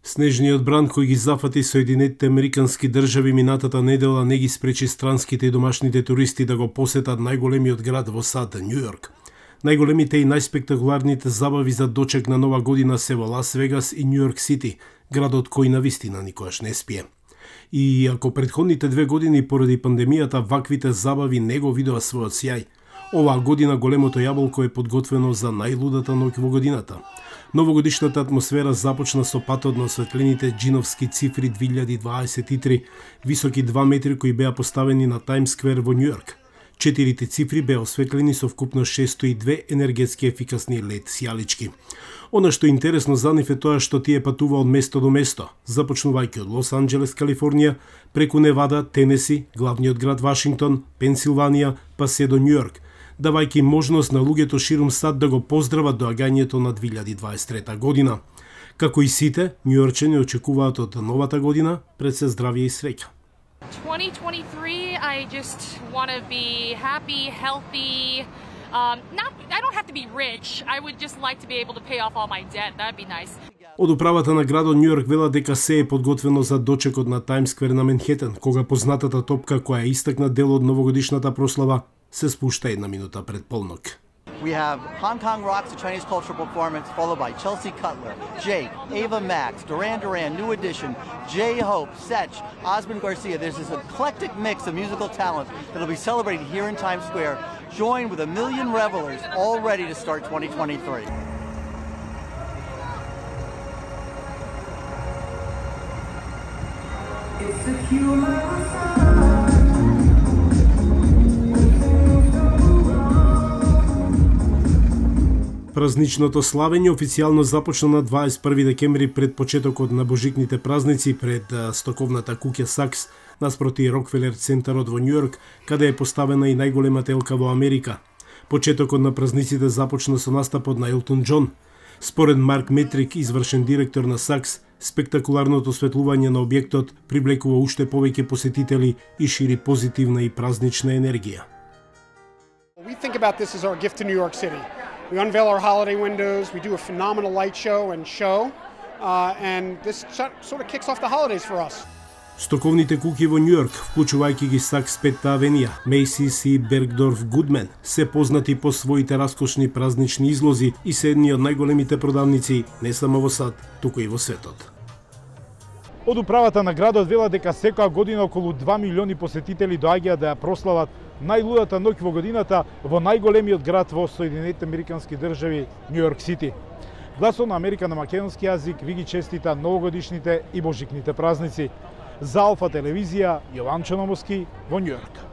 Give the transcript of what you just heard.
Снежниот бран кој ги зафати Соединетите Американски држави минатата недела не ги спречи странските и домашните туристи да го посетат најголемиот град во САД, Њу Йорк. Најголемите и најспектакуларните забави за дочек на Нова година се во Лас Вегас и Њу Йорк Сити, градот кој навистина никогаш не спие. И ако предходните 2 години поради пандемијата ваквите забави не го видоа својот сјај, оваа година големото јаболко е подготвено за најлудата ноќ во годината. Новогодишната атмосфера започна со патот на осветлените джиновски цифри 2023, високи 2 метри кои беа поставени на Таймс Сквер во Њу Йорк. 4 цифри беа осветлени со вкупно 602 енергетски ефикасни лед сјалички. Она што е интересно за нив е тоа што тие патува од место до место, започнувајќи од Лос Анџелес, Калифорнија, преку Невада, Тенеси, главниот град Вашингтон, Пенсилванија, па се до Њу Йорк, давајќи можност на луѓето ширум САД да го поздрават доагањето на 2023 година. Како и сите, њујорчани очекуваат од новата година пред се здравје и среќа. 2023, I just want to be happy, healthy. I don't have to be rich. I would just like to be able to pay off all my debt. That'd be nice. Од управата на градот Њу Йорк велат дека се е подготвено за дочекот на Таймс Сквер на Менхетен, кога познатата топка која истакна дел од новогодишната прослава се спушта 1 минута пред полнок. We have Hong Kong Rocks, a Chinese cultural performance, followed by Chelsea Cutler, Jake, Ava Max, Duran Duran, New Edition, J-Hope, Setch, Osmond Garcia. There's this eclectic mix of musical talent that'll be celebrated here in Times Square, joined with 1 million revelers all ready to start 2023. It's the human Празничното славење официјално започна на 21 декември пред почетокот на божикните празници пред стоковната куќа Сакс наспроти Рокфелер центарот во Њу Йорк, каде е поставена и најголемата елка во Америка. Почетокот на празниците започна со настапот на Елтон Џон. Според Марк Метрик, извршен директор на Сакс, спектакуларното осветлување на објектот привлекува уште повеќе посетители и шири позитивна и празнична енергија. We think about this as our gift to New York City. We unveil our holiday windows, we do a phenomenal light show, and this sort of kicks off the holidays for us. Стоковните куќи во Њу Йорк, вклучувајќи ги Сакс Петта авенија, Мейсис и Бергдорф Гудмен, се познати по своите раскошни празнични излози и се едни од најголемите продавници не само во САД, туку и во светот. Од управата на градот велат дека секоја година околу 2 милиони посетители доаѓаат да ја прослават најлудата ноќ во годината во најголемиот град во Соединетите Американски држави, Њу Йорк Сити. Гласот на Америка на македонски јазик ви ги честита новогодишните и божикните празници. За Алфа телевизија, Јован Чономоски во Њу Йорк.